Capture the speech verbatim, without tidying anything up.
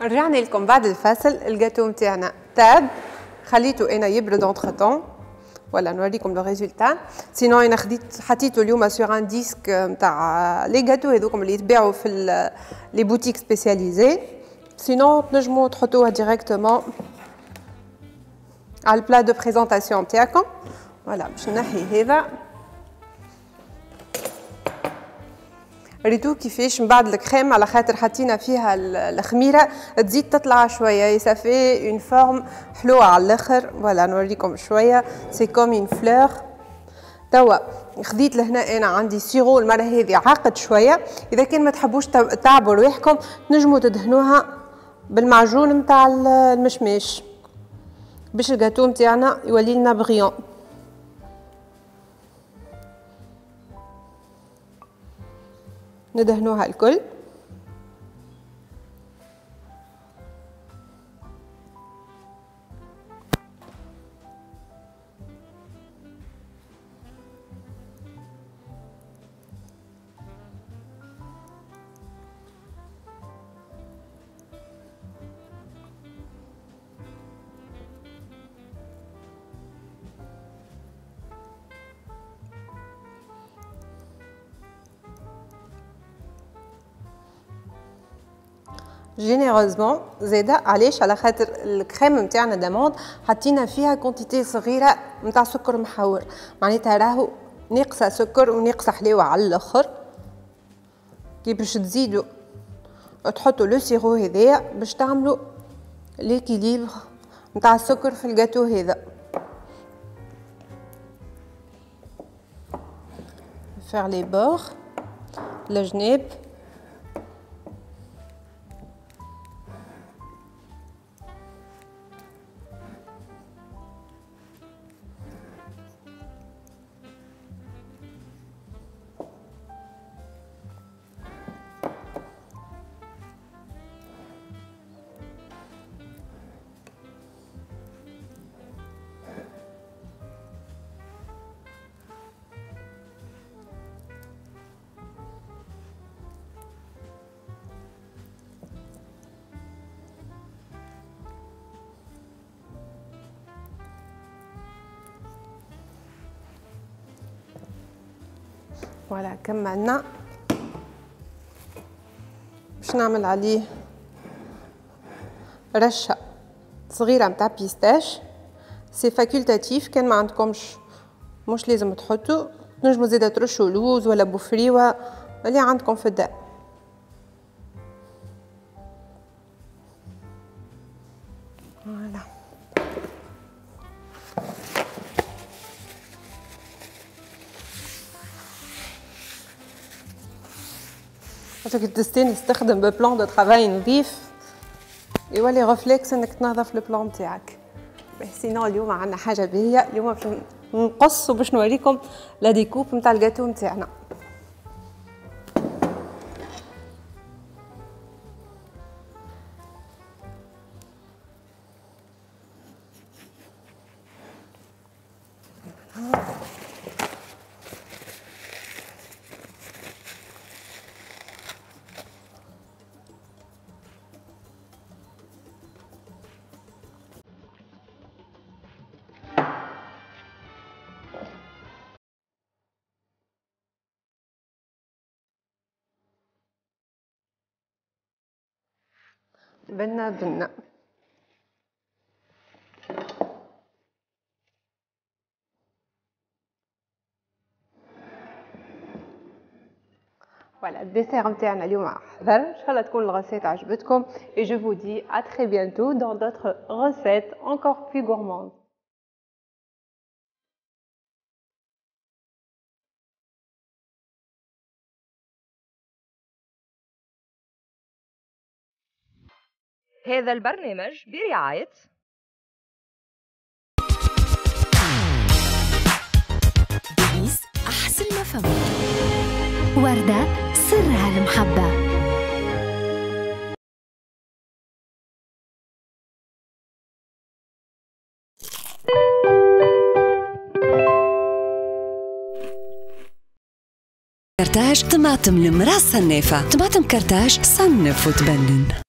رجعنا لكم بعد الفاصل. الجاتو نتاعنا تاب، خليته انا يبرد entre-temps، voilà نوريكم le résultat. sinon انا خديت حطيته اليوم sur un disque نتاع les gâteaux هذوكم اللي يتباعوا في les boutiques spécialisées. sinon تنجموا تحطوها directement على ال plat de présentation نتاعكم. voilà باش نحي هذا. ريتو كيفاش من بعد الكريم على خاطر حطينا فيها الخميره تزيد تطلع شوية، ça fait une forme حلوة على الاخر. voilà نوريكم شوية، c'est comme une fleur. توا خذيت لهنا انا عندي sirop المرة هذه عاقد شوية، اذا كان ما تحبوش تعبوا رواحكم تنجموا تدهنوها بالمعجون نتاع المشماش باش الجاتو نتاعنا يولي لنا brillant. ندهنوها الكل. généreusement زاده. علاش؟ على خاطر الكريم نتاعنا d'amande حطينا فيها quantité صغيرة نتاع سكر محور، معناتها راهو ناقصه سكر وناقصه حلاوة على الاخر. كي باش تزيدوا تحطوا le sirop هذايا باش تعملوا l'équilibre نتاع السكر في الجاتو هذا. faire les bords الجناب. voilà كملنا. باش نعمل عليه رشه صغيرة نتاع pistache، c'est facultatif، كان ما عندكمش مش لازم تحطوا، تنجموا زاده ترشوا لوز ولا بوفريوه اللي عندكم في الدار. voilà كي تستانس تستخدم ب plan de travail نظيف يولي réflexe انك تنظف ال plan نتاعك. sinon اليوم عندنا حاجة باهيه، اليوم باش نقص وباش نوريكم la découpe نتاع الجاتو نتاعنا. بنا بنا voilà ال dessert نتاعنا اليوم حضر. ان شاء الله تكون ال recette عجبتكم et je vous dis à très bientôt dans d'autres recettes encore plus gourmandes. هذا البرنامج برعاية ديليس أحسن ما فما، وردة سرها المحبة. كرتاج طماطم المرأة الصنافة، طماطم كرتاج صنف وتبنن.